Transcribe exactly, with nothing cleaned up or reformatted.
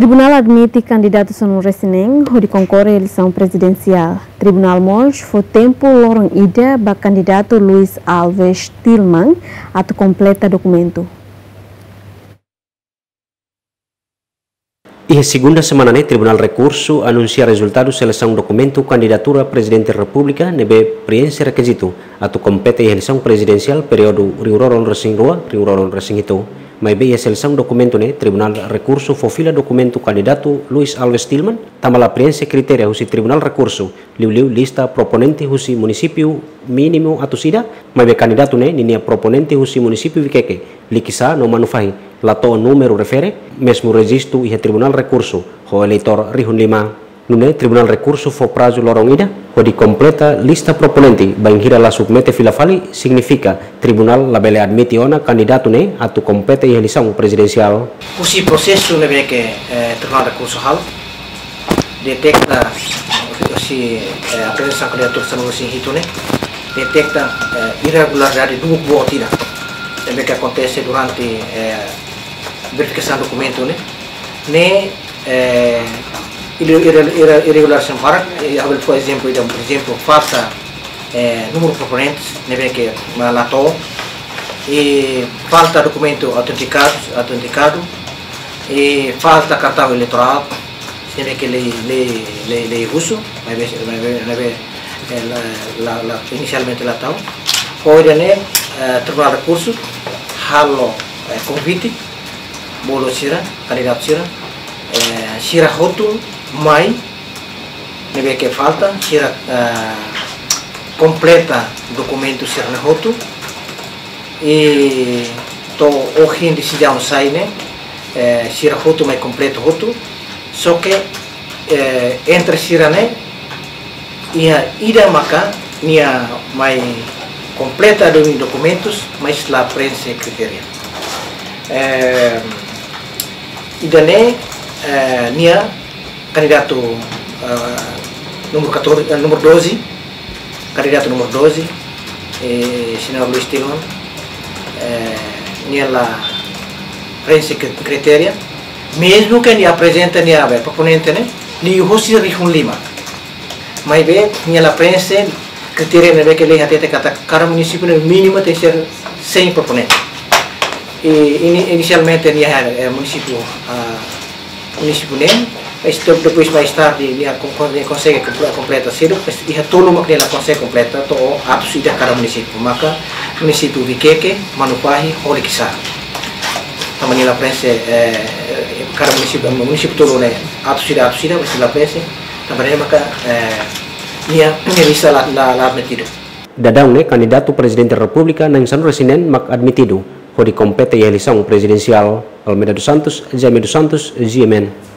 Tribunál admite kandidatu sanulu-resin-neen hodi konkorre eleisaun prezidensiál. Tribunál mós fó tempu loron ida ba kandidatu Luis Alves Tilman atu kompleta dokumentu. Iha segunda semana ne'e, Tribunál Rekursu anunsia rezultadu selesaun dokumentu kandidatura Prezidente Repúblika ne'ebé prienxe rekizitu atu kompete iha eleisaun prezidensiál períodu rihun rua ruanulu-resin-rua, rihun rua ruanulu-resin-hitu. Maibé iha selesaun dokumentu ne'e, Tribunál Rekursu fó fila dokumentu kandidatu Luis Alves Tilman, tanba la prienxe kritéria husi Tribunál Rekursu, liuliu lista proponente husi munisípiu mínimu atus ida, maibé kandidatu ne'e ninia proponente husi munisípiu Viqueque, Liquiçá no Manufahi, la to'o númeru refere, mezmu rejistu iha Tribunál Rekursu ho eleitór rihun lima. Nune'e Tribunál Rekursu fó prazu loron ida hodi kompleta lista proponente, bainhira la submete fila fali, signifika Tribunál labele admite ona kandidatu ne'e atu kompete iha eleisaun prezidensiál. Husi prosesu ne'ebé ke, eh, Tribunál Rekursu halo, deteta husi, eh, aprezasaun kandidatura sanulu-resin-hitu ne'e, deteta, eh, irregularidade duuk boot ida. Ne'ebé ke akontese durante, eh, verifikasaun dokumentu ne'e. Ne'e, eh, irre-, irre-, irre-, irregularidade barak, eh, ha'u bele fó ezemplu ida, porezemplu, falta, eh, númeru proponentes, ne'ebé ke mak la to'o, i falta dokumentu autentikadu, autentikadu, i falta kartaun eleitorál, ne'ebé ke lei, lei, lei, lei husu, maibé, maibé, maibé, eh, la, la, la, inisialmente la tau. Ho ida-ne'e, eh, Tribunál Rekursu halo, eh, konvite, bolu sira, kandidatu sira, eh, sira hotu mai, ne'ebé ke falta, sira, eh, kompleta dokumentu sira-ne'e hotu, i to'o ohin desizaun sai ne'e, eh, sira hotu mai kompleta hotu, só ke, eh, entre sira-ne'e, iha ida maka nia mai kompleta duni dokumentus, mas la prienxe kritéria. Eh, ida-ne'e, eh, nia kandidatu, eh, númeru catorze, eh, númeru doze, kandidatu númeru doze, eh, señór Luis Tilman, eh, nia la prienxe kri-, kritéria, mezmu ke nia aprezenta nia, be, proponente ne'e, liuhosi rihun lima. Maibé, nia la prienxe kritéria ne'ebé ke lei hatete katak kada munisípiu ne'e mínimu tenke ser cem proponente. I ini-, inisialmente nia, eh, munisípiu, ah, munisípiu neen, mas de-, depois mais tarde nia kon-, kon-, nia konsege komple-, kompleta seluk, mas iha tolu mak nia la konsege kompleta, to'o atus ida kada munisípiu. Maka munisípiu Viqueque, Manufahi, ho Liquiçá. Tanba nia la prienxe, eh, kada munisípiu, munisípiu tolu ne'e atus ida, atus ida, mas la prienxe. Tanba ne'e maka, eh, nia, nia lista la, la, la admitidu. Daudaun ne'e kandidatu Prezidente Repúblika na'in sanulu-resin-neen mak admitidu hodi kompete iha eleisaun prezidensiál. Almeida dos Santos, Jaime dos Santos, G M N.